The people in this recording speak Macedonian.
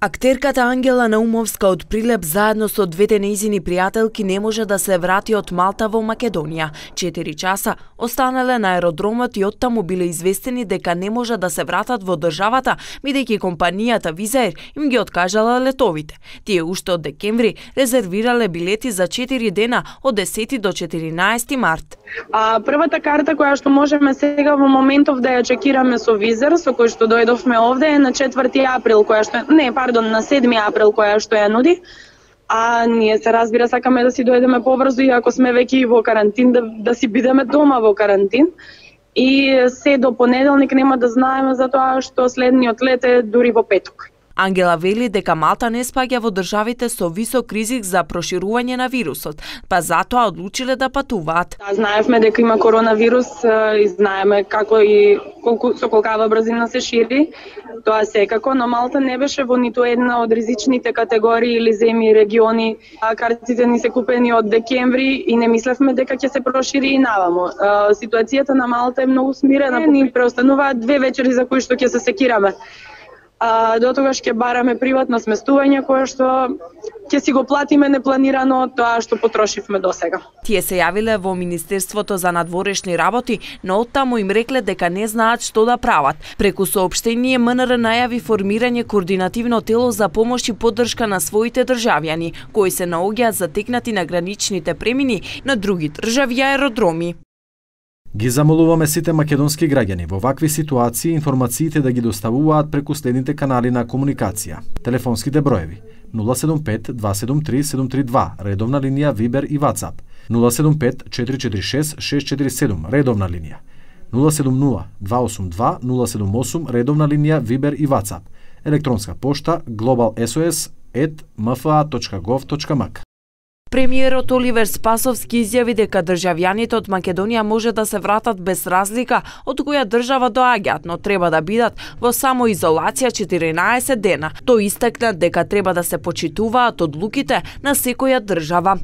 Актерката Ангела Наумовска од Прилеп заедно со двете нејзини пријателки не може да се врати од Малта во Македонија. 4 часа останале на аеродромот и оттаму биле известени дека не може да се вратат во државата, бидејќи компанијата Визаир им ги откажала летовите. Тие уште од декември резервирале билети за 4 дена од 10 до 14 март. Првата карта која што можеме сега во моментов да ја чекираме со Визаир, со кој што дојдовме овде, е на 4 април, на 7 април која што ја нуди, а ние се разбира сакаме да си дојдеме побрзо, иако сме веќе во карантин, да си бидеме дома во карантин. И се до понеделник нема да знаеме за тоа што следниот лет е дури во петок. Ангела вели дека Малта не спаѓа во државите со висок ризик за проширување на вирусот, па затоа одлучиле да патуваат. Знаевме дека има коронавирус и знаеме како и со колкава брзина се шири. Тоа секако, но Малта не беше во ниту една од ризичните категории или земји и региони. Картите ни се купени од декември и не мислевме дека ќе се прошири и навамо. Ситуацијата на Малта е многу смирена. Ни преостануваат 2 вечери за кои што ќе се секираме. До тогаш ќе бараме приватно сместување кое што ќе си го платиме непланирано тоа што потрошивме досега. Тие се јавиле во Министерството за надворешни работи, но оттаму им рекле дека не знаат што да прават. Преку соопштение МНР најави формирање координативно тело за помош и поддршка на своите државјани, кои се наоѓаат затекнати на граничните премини на други држави и аеродроми. Ги замолуваме сите македонски граѓани во вакви ситуации информациите да ги доставуваат преку следните канали на комуникација. Телефонските броеви 075 273 732, редовна линија Viber и WhatsApp, 075 446 647, редовна линија, 070 282 078, редовна линија Viber и WhatsApp, електронска пошта globalsos@mfa.gov.mk. Премиерот Оливер Спасовски изјави дека државјаните од Македонија може да се вратат без разлика од која држава доаѓаат, но треба да бидат во самоизолација 14 дена. Тој истакна дека треба да се почитуваат одлуките на секоја држава.